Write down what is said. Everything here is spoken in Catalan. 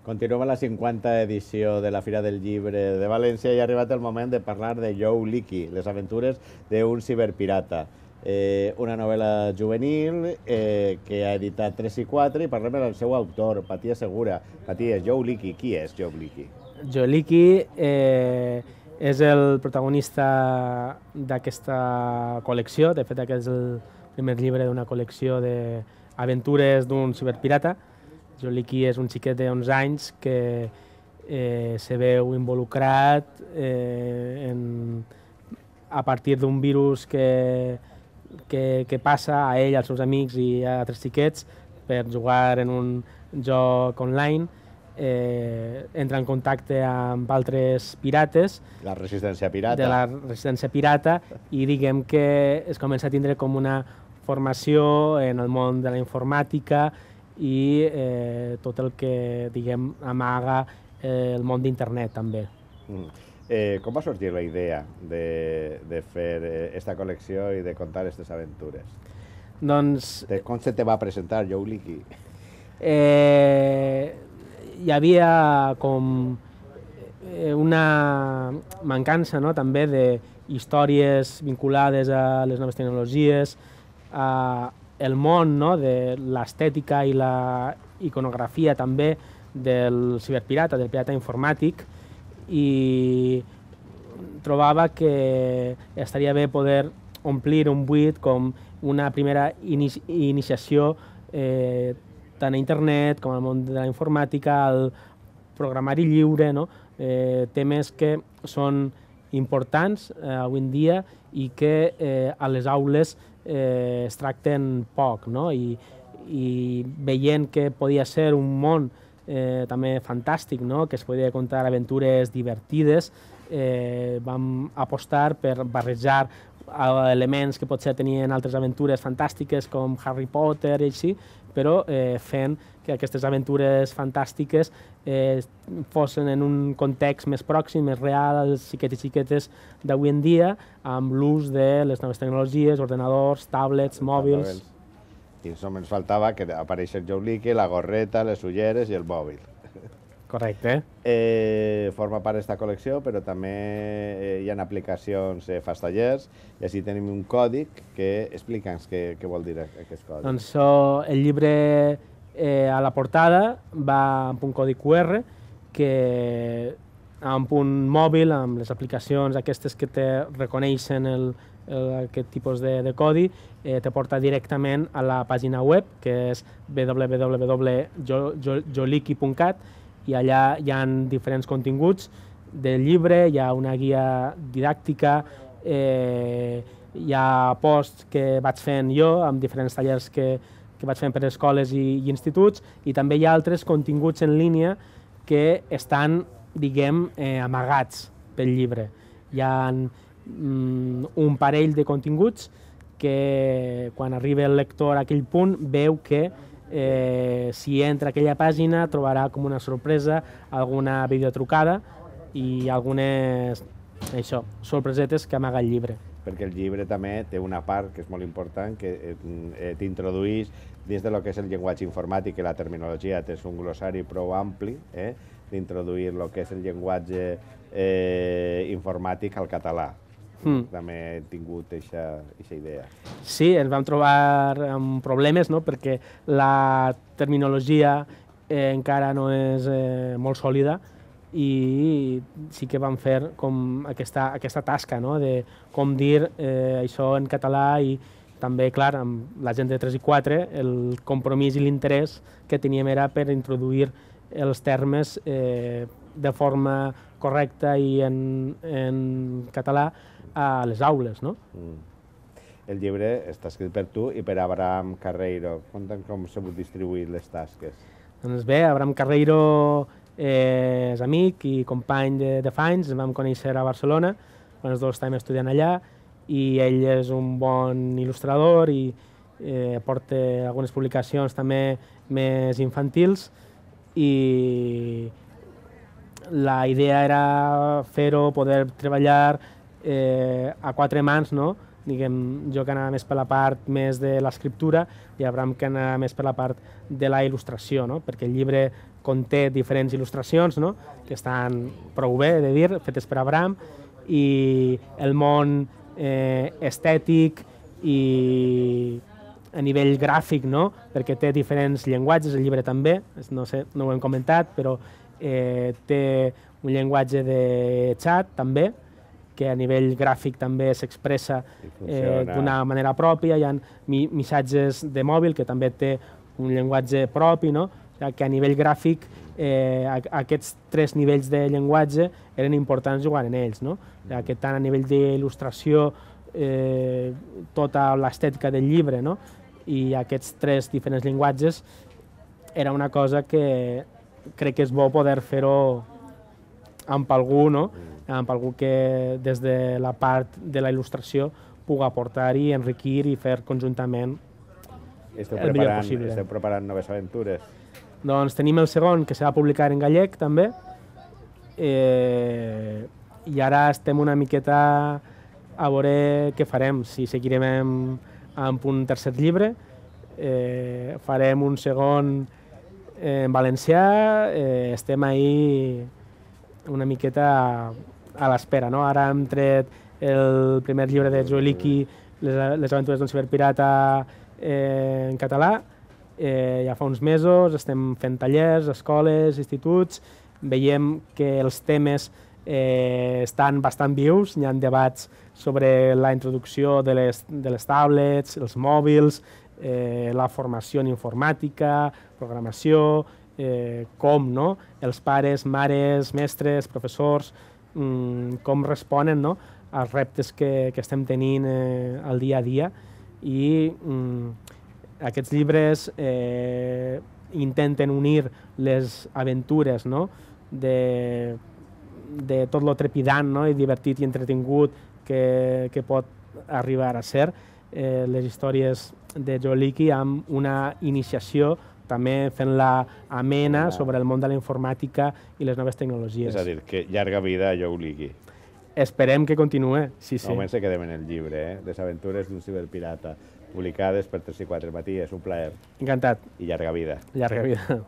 Continuem a la 50a edició de la Fira del Llibre de València i ha arribat el moment de parlar de Joe Leakey, les aventures d'un ciberpirata. Una novel·la juvenil que ha editat 3 i 4 i parlem del seu autor, Matías Segura. Matías, Joe Leakey, qui és Joe Leakey? Joe Leakey és el protagonista d'aquesta col·lecció. De fet, aquest és el primer llibre d'una col·lecció d'aventures d'un ciberpirata. Joe Leakey és un xiquet de 11 anys que se veu involucrat a partir d'un virus que passa a ell, als seus amics i a altres xiquets per jugar en un joc online. Entra en contacte amb altres pirates La resistència pirata. de la resistència pirata i diguem que es comença a tindre com una formació en el món de la informàtica i tot el que diguem amaga el món d'internet també. Com va sorgir la idea de fer aquesta col·lecció i de contar aquestes aventures? Doncs Com se te va presentar Joe Leakey? hi havia com una mancança, no?, també d'històries vinculades a les noves tecnologies, el món, no?, de l'estètica i la iconografia també del ciberpirata, del pirata informàtic, i trobava que estaria bé poder omplir un buit com una primera iniciació tant a internet com al món de la informàtica, al programari lliure, no? Temes que són importants avui en dia i que a les aules es tracten poc, no? I veient que podia ser un món també fantàstic, no?, que es podia contar aventures divertides, vam apostar per barrejar elements que potser tenien altres aventures fantàstiques com Harry Potter i així, però fent que aquestes aventures fantàstiques fossin en un context més pròxim, més real als xiquets i xiquetes d'avui en dia, amb l'ús de les noves tecnologies, ordenadors, tablets, mòbils. I només faltava que apareixés Joe Leakey, la gorreta, les ulleres i el mòbil. Correcte. Forma part d'aquesta col·lecció, però també hi ha aplicacions, fas tallers, i així tenim un còdic que explica'ns què vol dir aquest còdic. Doncs el llibre a la portada va amb un codi QR que amb un mòbil, amb les aplicacions aquestes que te reconeixen aquest tipus de codi, te porta directament a la pàgina web, que és www.joeleakey.cat, i allà hi ha diferents continguts del llibre, hi ha una guia didàctica, hi ha posts que vaig fent jo amb diferents tallers que vaig fent per escoles i instituts, i també hi ha altres continguts en línia que estan, diguem, amagats pel llibre. Hi ha un parell de continguts que quan arriba el lector a aquell punt veu que si entra a aquella pàgina trobarà com una sorpresa alguna videotrucada i algunes sorpresetes que amaga el llibre. Perquè el llibre també té una part que és molt important, que t'introdueix dins de lo que és el llenguatge informàtic i la terminologia. Tens un glossari prou ampli d'introduir el que és el llenguatge informàtic al català. També he tingut aquesta idea. Sí, ens vam trobar amb problemes, no?, perquè la terminologia encara no és molt sòlida i sí que vam fer com aquesta tasca, no?, de com dir això en català, i també, clar, amb la gent de 3 i 4, el compromís i l'interès que teníem era per introduir els termes de forma correcta i en català a les aules, no? El llibre està escrit per tu i per Abraham Carreiro. Conta'm com s'han distribuït les tasques. Doncs bé, Abraham Carreiro és amic i company de fa anys, ens vam conèixer a Barcelona, quan els dos estàvem estudiant allà, i ell és un bon il·lustrador i porta algunes publicacions també més infantils, i la idea era fer-ho, poder treballar a 4 mans, no? Diguem, jo que anava més per la part més de l'escriptura i Abraham que anava més per la part de la il·lustració, no? Perquè el llibre conté diferents il·lustracions, no? Que estan prou bé, he de dir, fetes per Abraham, i el món estètic i a nivell gràfic, no? Perquè té diferents llenguatges, el llibre també, no sé, no ho hem comentat, però té un llenguatge de xat també, que a nivell gràfic també s'expressa d'una manera pròpia, hi ha missatges de mòbil que també té un llenguatge propi, no? Que a nivell gràfic aquests 3 nivells de llenguatge eren importants jugar en ells, no? Que tant a nivell d'il·lustració, tota l'estètica del llibre, no? I aquests 3 diferents llenguatges era una cosa que crec que és bo poder fer-ho amb algú, no? Amb algú que des de la part de la il·lustració pugui aportar-hi, enriquir i fer conjuntament el millor possible. Esteu preparant noves aventures? Doncs tenim el segon, que s'ha de publicar en gallec també, i ara estem una miqueta a veure què farem, si seguirem amb un tercer llibre, farem un segon en valencià, estem ahí una miqueta a l'espera, no? Ara hem tret el primer llibre de Joel Hickey, Les aventures d'un ciberpirata en català, ja fa uns mesos, estem fent tallers, escoles, instituts, veiem que els temes estan bastant vius, hi ha debats sobre la introducció de les tablets, els mòbils, la formació en informàtica, programació, com no? Els pares, mares, mestres, professors, com responen, no? als reptes que estem tenint al dia a dia, i aquests llibres intenten unir les aventures, no? de tot lo trepidant, no? i divertit i entretingut que pot arribar a ser les històries de Joel Hickey, amb una iniciació també fent-la amena sobre el món de la informàtica i les noves tecnologies. És a dir, que llarga vida a Joel Hickey. Esperem que continuï, sí. Almenys se quedem en el llibre, Les aventures d'un ciberpirata, publicades per 3 i 4 Matí. És un plaer. Encantat. I llarga vida. Llarga vida.